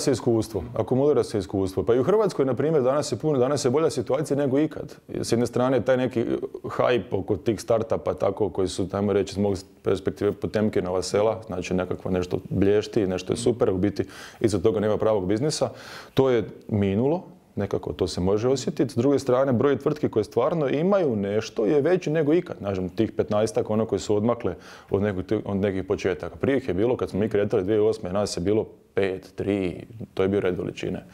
se iskustvo. Pa i u Hrvatskoj, na primjer, danas je bolja situacija nego ikad. S jedne strane, taj neki hype oko tih startupa, tako, koji su, tajmo reći, iz mog perspektive Potemkinova sela, znači nekakvo nešto blješti, nešto je super, u biti iza toga nema pravog biznisa. To je minulo. Nekako to se može osjetiti. S druge strane, broj tvrtki koje stvarno imaju nešto je veći nego ikad. Znači, tih 15-ak ono koji su odmakle od nekih početaka. Prije ih je bilo, kad smo mi kretali 2008. nas je bilo 5, 3, to je bio red veličine.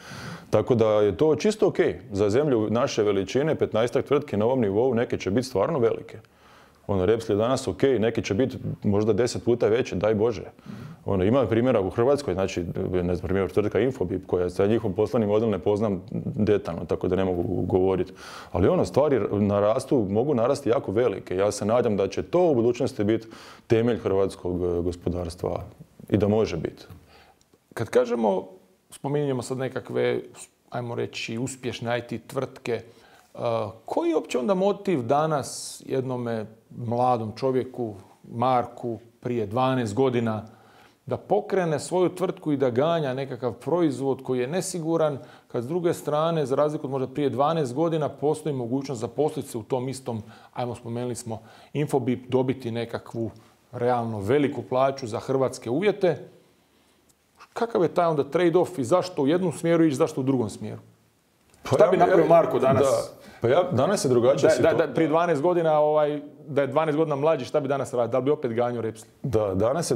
Tako da je to čisto ok. Za zemlju naše veličine, 15-ak tvrtki na ovom nivou, neke će biti stvarno velike. Repsol je danas ok, neki će biti možda 10 puta veće, daj Bože. Ima primjera u Hrvatskoj, znači, ne znam, primjer tvrtka Infobip, koja sa njihov poslovni model ne poznam detaljno, tako da ne mogu govoriti. Ali stvari mogu narasti jako velike. Ja se nadam da će to u budućnosti biti temelj hrvatskog gospodarstva i da može biti. Kad kažemo, spominjemo sad nekakve, ajmo reći, uspješne IT tvrtke, koji je uopće onda motiv danas jednome mladom čovjeku, Marku, prije 12 godina, da pokrene svoju tvrtku i da ganja nekakav proizvod koji je nesiguran, kad s druge strane, za razliku od možda prije 12 godina, postoji mogućnost zaposliti se u tom istom, spomenuli smo Infobip, dobiti nekakvu realno veliku plaću za hrvatske uvjete. Kakav je taj onda trade-off i zašto u jednom smjeru ići, zašto u drugom smjeru? Šta bi napravio Marko danas? Danas je drugačija situacija. Prije 12 godina, da je 12 godina mlađi, šta bi danas radio? Da li bi opet ganjao Repsol? Da, danas je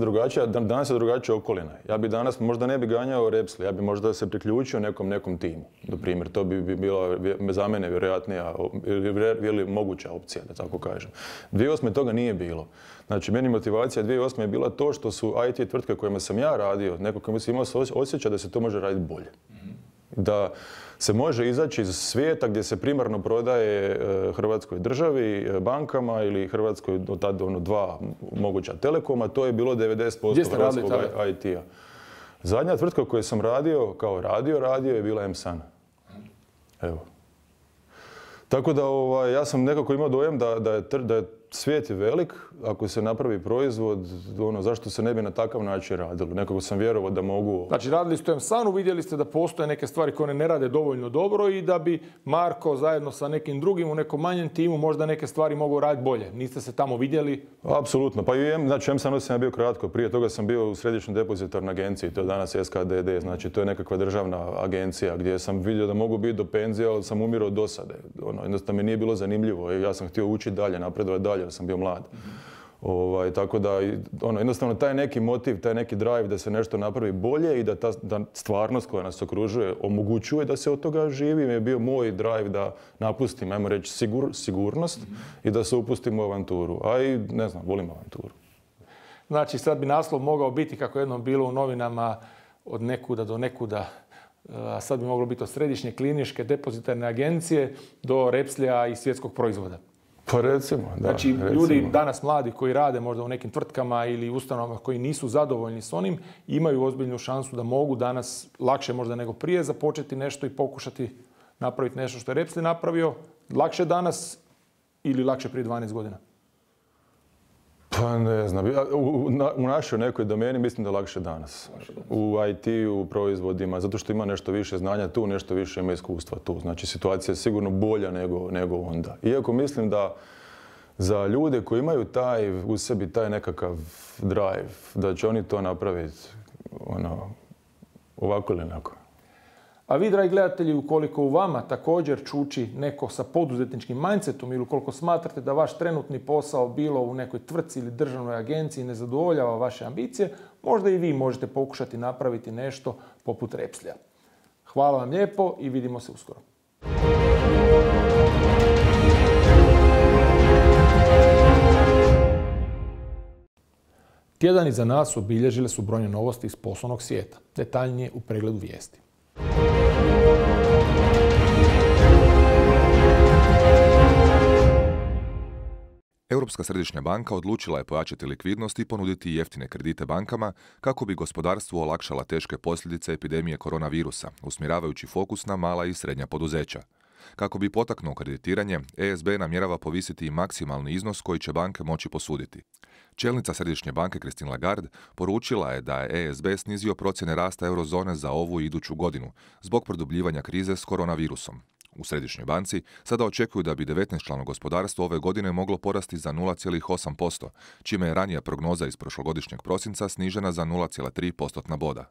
drugačija okolina. Ja bi danas možda ne bi ganjao Repsol, ja bi možda se priključio nekom timu. Na primjer, to bi bila za mene vjerojatnija ili moguća opcija, da tako kažem. 2008. toga nije bilo. Znači, meni motivacija 2008. je bila to što su IT tvrtke kojima sam ja radio, neko kojima sam imao osjećaj da se to može raditi bolje. Da se može izaći iz svijeta gdje se primarno prodaje Hrvatskoj državi, bankama ili Hrvatskoj od tada dva moguća telekoma, to je bilo 90% hrvatskog IT-a. Zadnja tvrtka u kojoj sam radio, kao radio je bila M-San. Evo. Tako da ja sam nekako imao dojam da je svijet je velik, ako se napravi proizvod, zašto se ne bi na takav način radilo? Nekako sam vjerovao da mogu... Znači, radili ste u M-Sanu, vidjeli ste da postoje neke stvari koje ne rade dovoljno dobro i da bi Marko zajedno sa nekim drugim u nekom manjem timu možda neke stvari mogao raditi bolje. Niste se tamo vidjeli? Apsolutno. Pa i znači, M-Sanu sam ja bio kratko. Prije toga sam bio u središnjoj depozitarnoj agenciji, to je danas SKDD. Znači, to je nekakva državna agencija gdje sam vidio da mogu biti do penzije, ali sam umirao od dosade. Jednostavno mi nije bilo zanimljivo. Ja sam htio učiti dalje, napredovati dalje, jer sam bio mlad. Tako da, jednostavno taj neki motiv, taj neki drive da se nešto napravi bolje i da ta stvarnost koja nas okružuje omogućuje da se od toga živi, je bio moj drive da napustim, ajmo reći, sigurnost i da se upustim u avanturu. A i, ne znam, volim avanturu. Znači, sad bi naslov mogao biti, kako jednom bilo u novinama, od nekuda do nekuda, a sad bi moglo biti od središnje kliničke depozitarne agencije do Repslija i svjetskog proizvoda. Pa recimo, da. Znači, ljudi danas mladi koji rade možda u nekim tvrtkama ili ustanovama koji nisu zadovoljni s onim, imaju ozbiljnu šansu da mogu danas lakše možda nego prije započeti nešto i pokušati napraviti nešto što je Repsol napravio. Lakše danas ili lakše prije 12 godina? Pa ne znam. U našoj nekoj domeni mislim da je lakše danas. U IT-u, u proizvodima, zato što ima nešto više znanja tu, nešto više ima iskustva tu. Znači situacija je sigurno bolja nego onda. Iako mislim da za ljude koji imaju u sebi taj nekakav drive, da će oni to napraviti ovako ili onako. A vi, dragi gledatelji, ukoliko u vama također čuči neko sa poduzetničkim mindsetom ili ukoliko smatrate da vaš trenutni posao bilo u nekoj tvrtci ili državnoj agenciji ne zadovoljava vaše ambicije, možda i vi možete pokušati napraviti nešto poput Repslija. Hvala vam lijepo i vidimo se uskoro. Tjedan iza nas obilježile su brojne novosti iz poslovnog svijeta. Detaljnije u pregledu vijesti. Europska središnja banka odlučila je pojačati likvidnost i ponuditi jeftine kredite bankama kako bi gospodarstvu olakšala teške posljedice epidemije koronavirusa, usmjeravajući fokus na mala i srednja poduzeća. Kako bi potaknuo kreditiranje, ESB namjerava povisiti i maksimalni iznos koji će banke moći posuditi. Čelnica Središnje banke Christine Lagarde poručila je da je ESB snizio procjene rasta eurozone za ovu i iduću godinu zbog produbljivanja krize s koronavirusom. U Središnjoj banci sada očekuju da bi 19-člano gospodarstvo ove godine moglo porasti za 0,8%, čime je ranija prognoza iz prošlogodišnjeg prosinca snižena za 0,3 postotna boda.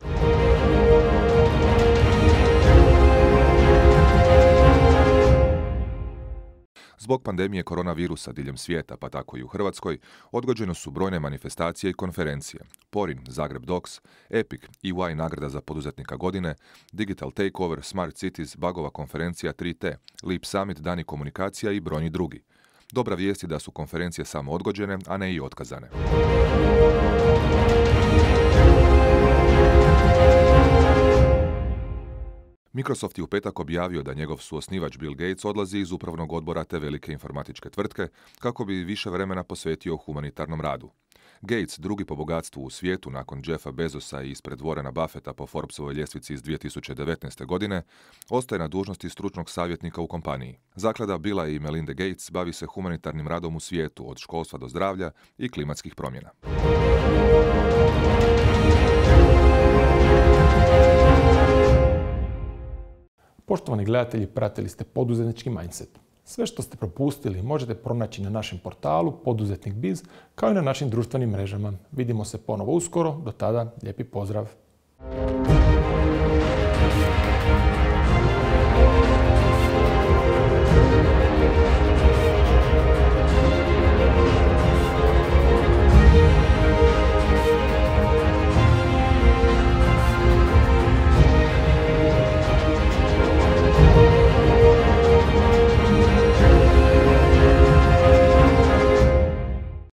Zbog pandemije koronavirusa diljem svijeta, pa tako i u Hrvatskoj, odgođene su brojne manifestacije i konferencije. Porin, Zagreb Docs, Epic, EY nagrada za poduzetnika godine, Digital Takeover, Smart Cities, Bagova konferencija 3T, Leap Summit, Dani komunikacija i brojni drugi. Dobra vijest je da su konferencije samo odgođene, a ne i otkazane. Microsoft je u petak objavio da njegov suosnivač Bill Gates odlazi iz upravnog odbora te velike informatičke tvrtke kako bi više vremena posvetio humanitarnom radu. Gates, drugi po bogatstvu u svijetu nakon Jeffa Bezosa i ispred Warrena Buffetta po Forbesovoj ljestvici iz 2019. godine, ostaje na dužnosti stručnog savjetnika u kompaniji. Zaklada Billa i Melinda Gates bavi se humanitarnim radom u svijetu, od školstva do zdravlja i klimatskih promjena. Poštovani gledatelji, pratili ste Poduzetnički mindset. Sve što ste propustili možete pronaći na našem portalu Poduzetnik Biz, kao i na našim društvenim mrežama. Vidimo se ponovo uskoro, do tada lijepi pozdrav!